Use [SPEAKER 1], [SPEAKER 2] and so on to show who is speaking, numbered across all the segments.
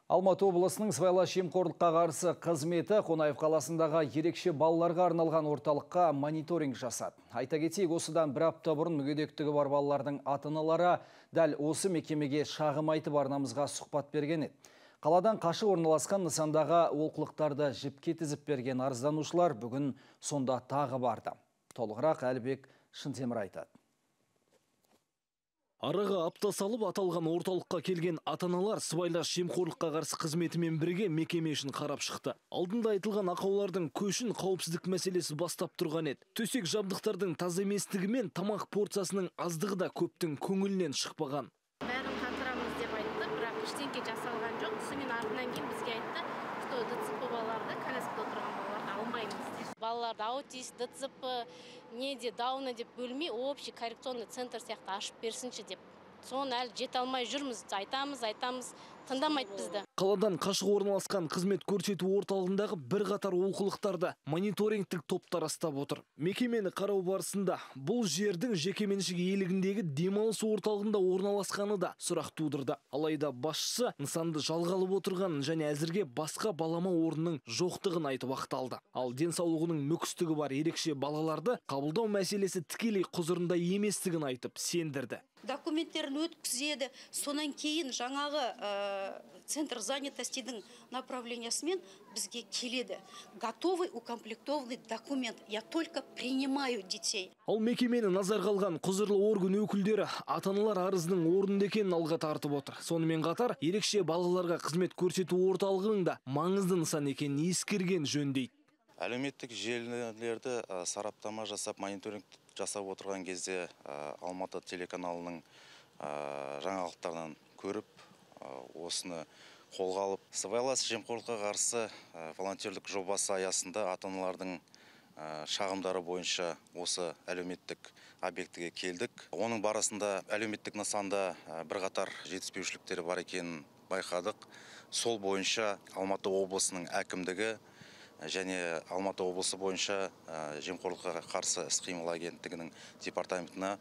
[SPEAKER 1] Алматы облысының сыбайлас жемқорлыққа қарсы қызметі Қонаев қаласындағы ерекше балаларға арналған орталыққа мониторинг жасады. Айта кетейік, осыдан бір апта бұрын мүгедектігі бар балалардың ата-аналары дәл осы мекемеге шағым айтып арнамызға сұхбат берген еді. Қаладан қашы орналасқан нысандағы олқылықтарды жіпке тізіп берген арызданушылар бүгін сонда тағы барды. Толығырақ Әлібек Шынтемір айтады.
[SPEAKER 2] Араға апта салып аталған орталыққа келген ата-аналар сыбайлас жемқорлыққа қарсы қызметімен бірге мекеме үшін қарап шықты. Алдында айтылған ақаулардың көшін қауіпсіздік мәселесі бастап тұрған еді. Төсек жабдықтардың таза еместігі мен тамақ порциясының аздығы да көптің көңілінен шықпаған.
[SPEAKER 3] Бәрін қатырамыз деп айтты, бірақ ештеңе жасалған жоқ. Сонымен артынан кейін бізге айтты, что ДЦП балаларды, коляскада отырған балаларды алмаймыз. Балаларды аутист, ДЦП, неде дауна деп бөлмей, общий коррекционный центр сияқты ашып берсінші деп. Соны әлі жете алмай жүрміз, айтамыз, тыңдамайды бізді.
[SPEAKER 2] Қаладан қашық орналасқан қызмет көрсету орталығындағы бір қатар олқылықтарды мониторингтік топтар растап отыр. Мекемені қарау барысында бұл жердің жекеменшік иелігіндегі демалыс орталығында орналасқаны да сұрақ тудырды. Алайда басшысы нысанды жалға алып отырғанын және әзірге басқа балама орнының жоқтығын айтып ақталды. Ал денсаулығының мүкістігі бар ерекше балаларды қабылдау мәселесі тікелей құзырында еместігін айтып сендірді.
[SPEAKER 4] Документтерін өткізеді, сонан кейін жаңағы центр занятостидің направлениясымен бізге келеді. Готовый укомплектованный документ. Я только принимаю детей.
[SPEAKER 2] Ал мекемені назарға алған құзырлы орган өкілдері ата-аналар арызының орынды екенін алға тартып отыр. Сонымен қатар ерекше балаларға қызмет көрсету орталығының да маңызды нысан екенін ескерген жөн дейді.
[SPEAKER 5] Әлеуметтік желілерді сараптама жасап, мониторинг жасап отырған кезде Алматы телеканалының жаңалықтарынан көріп, осыны қолға алып, сыбайлас жемқорлыққа қарсы волонтерлік жобасы аясында ата-аналардың шағымдары бойынша осы әлеуметтік объектіге келдік. Оның барысында әлеуметтік нысанда бірқатар жетіспеушіліктері бар екенін байқадық. Сол бойынша Алматы облысының әкімдігі және Алматы облысы бойынша жемқорлыққа қарсы іс-қимыл агенттігінің департаментіне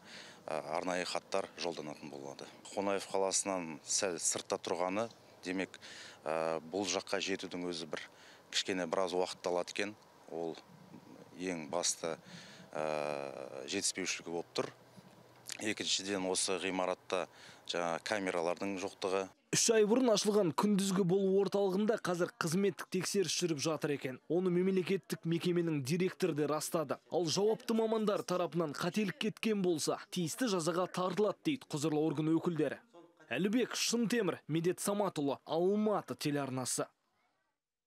[SPEAKER 5] арнайы хаттар жолданатын болады. Қонаев қаласынан сәл сыртта тұрғаны, демек бұл жаққа жетудің өзі кішкене біраз уақыт алады екен. Ол ең басты жетіспеушілігі болып тұр. Екіншіден осы ғимаратта камералардың жоқтығы.
[SPEAKER 2] 3 ай бұрын ашылған күндізгі болу орталығында қазір қызметтік тексеріс жүріп жатыр екен. Оны мемлекеттік мекеменің директоры де растады. Ал жауапты мамандар тарапынан қателік кеткен болса, тиісті жазаға тартылады дейді құзырлы орган өкілдері. Әлібек Шынтемір, Медет Саматұлы, Алматы телеарнасы.